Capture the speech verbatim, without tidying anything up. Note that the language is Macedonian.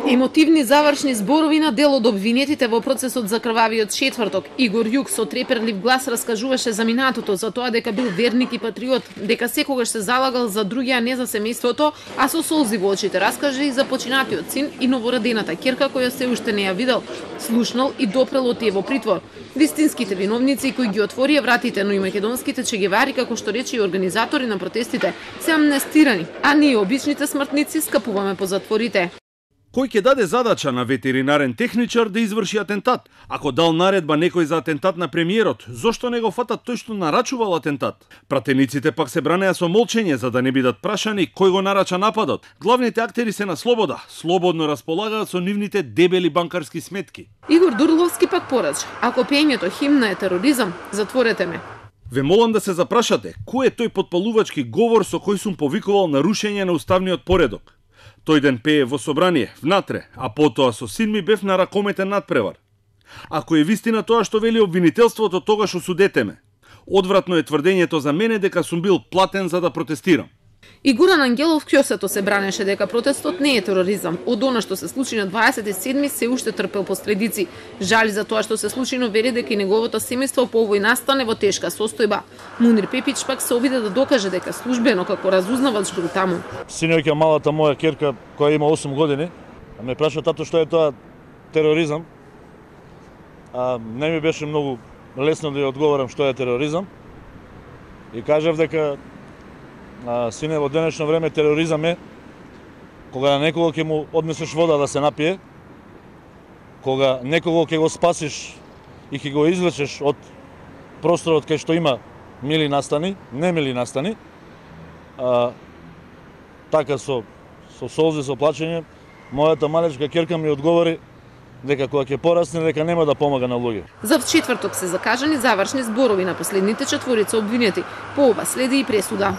Емотивни завршни зборови на дел од обвинетите во процесот за крвавиот четврток. Игор Јук со треперлив глас раскажуваше за минатото, за тоа дека бил верник и патриот, дека секогаш се залагал за други, а не за семејството, а со солзи во очите раскаже и за починатиот син и новородената ќерка која се уште не ја видел, слушнал и допрел од тие во притвор. Вистинските виновници кои ги отворија вратите, но и македонските чегевари, како што рече и организатори на протестите, се амнестирани, а ние обичните смртници скапуваме по затворите. Кој ќе даде задача на ветеринарен техничар да изврши атентат? Ако дал наредба некој за атентат на премиерот, зошто не го фатат тој што нарачувал атентат? Пратениците пак се бранеа со молчење за да не бидат прашани кој го нарача нападот. Главните актери се на слобода, слободно располагаат со нивните дебели банкарски сметки. Игор Дурловски пак порача: ако пењето химна е тероризам, затворете ме. Ве молам да се запрашате, кој е тој потпалувачки говор со кој сум повикувал на рушење на уставниот поредок? Тој ден пее во собрание, внатре, а потоа со син ми бев на ракометен надпревар. Ако е вистина тоа што вели обвинителството, тогаш осудете ме. Одвратно е тврдењето за мене дека сум бил платен за да протестирам. И Гуран Ангелов кјосето се бранеше дека протестот не е тероризам. Од она што се случи на дваесет и седми се уште трпел последици. Жали за тоа што се случи, но вери дека и неговото семејство по овој настане во тешка состојба. Мунир Пепич пак се обиде да докаже дека службено како разузнавач бил таму. Синоќа малата моја ќерка која има осум години, ме праша: тато, што е тоа тероризам? А не ми беше многу лесно да ја одговорам што е тероризам. И кажав дека А, сине, во денешно време тероризам е кога на некого ќе му однесеш вода да се напие, кога некого ќе го спасиш и ќе го извлечеш од просторот кај што има мили настани, немили настани, а, така со, со солзи, со плачење, мојата малечка ќерка ми одговори дека кога ќе порасне, дека нема да помага на луѓе. За четврток се закажани завршни зборови на последните четворица обвинети. По ова следи и пресуда.